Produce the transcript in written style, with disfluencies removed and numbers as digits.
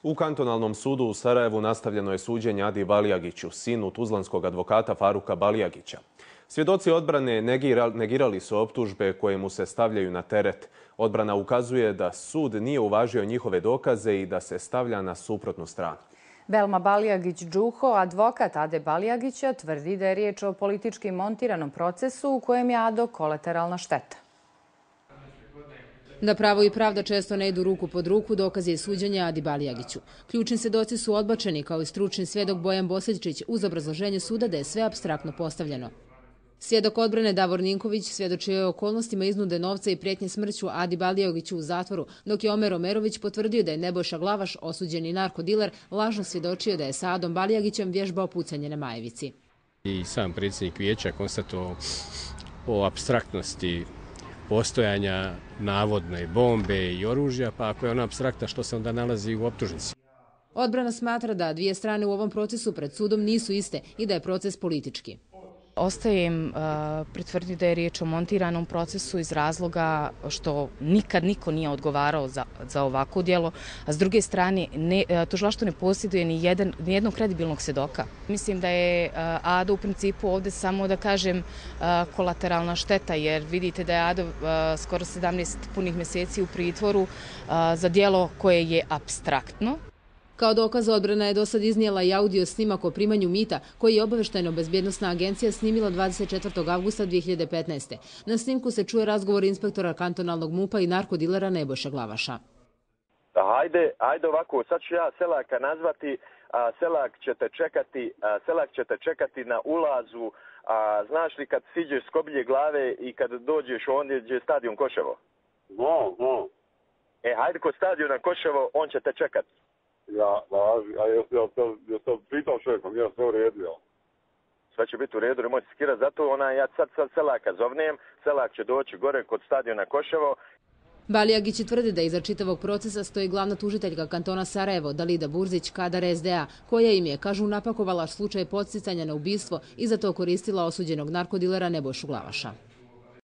U kantonalnom sudu u Sarajevu nastavljeno je suđenje Adi Balijagiću, sinu tuzlanskog advokata Faruka Balijagića. Svjedoci odbrane negirali su optužbe koje mu se stavljaju na teret. Odbrana ukazuje da sud nije uvažio njihove dokaze i da se stavlja na suprotnu stranu. Belma Balijagić-Đuho, advokat Ade Balijagića, tvrdi da je riječ o politički montiranom procesu u kojem je Ado kolateralna šteta. Da pravo i pravda često ne idu ruku pod ruku, dokaz je suđenje Adi Balijagiću. Ključni svjedoci su odbačeni, kao i stručni svjedok Bojan Bosiljčić, uz obrazloženje suda da je sve apstraktno postavljeno. Svjedok odbrane Davor Ninković svjedočio je o okolnostima iznude novca i prijetnje smrću Adi Balijagiću u zatvoru, dok je Omer Omerović potvrdio da je Nebojša Glavaš, osuđeni narkodiler, lažno svjedočio da je sa Adom Balijagićem vježbao pucanje na Majevici. I sam predsjednik vijeća konstatovao o apstraktnosti postojanja navodne bombe i oružja, pa ako je ona apstrakta, što se onda nalazi u optužnici? Odbrana smatra da dvije strane u ovom procesu pred sudom nisu iste i da je proces politički. Ostaje im pritvrditi da je riječ o montiranom procesu iz razloga što nikad niko nije odgovarao za ovako djelo, a s druge strane tužilaštvo ne posjeduje ni jednog kredibilnog svjedoka. Mislim da je Ado u principu ovdje samo, da kažem, kolateralna šteta, jer vidite da je Ado skoro 17 punih mjeseci u pritvoru za djelo koje je apstraktno. Kao dokaz odbrana je do sad iznijela i audio snimak o primanju mita koji je obavještajno-bezbjednosna agencija snimila 24. avgusta 2015. Na snimku se čuje razgovor inspektora kantonalnog MUP-a i narkodilera Nebojše Glavaša. Ajde ovako, sad ću ja Selaka nazvati, Selak ćete čekati na ulazu, znaš li kad siđeš s Kobilje glave i kad dođeš ondje gdje je stadion Koševo? No. Hajde kod stadiona Koševo, on će te čekati. Ja sam pitao šefom, ja sve u redu. Sve će biti u redu, nemojte skirati, zato ja sad Selaka zovnem, Selak će doći gore kod stadiona Koševo. Balijagić tvrdi da iza čitavog procesa stoji glavna tužiteljka kantona Sarajevo, Dalida Burzić, kadar SDA, koja im je, kažu, napakovala slučaj podsticanja na ubistvo i za to koristila osuđenog narkodilera Nebojšu Glavaša.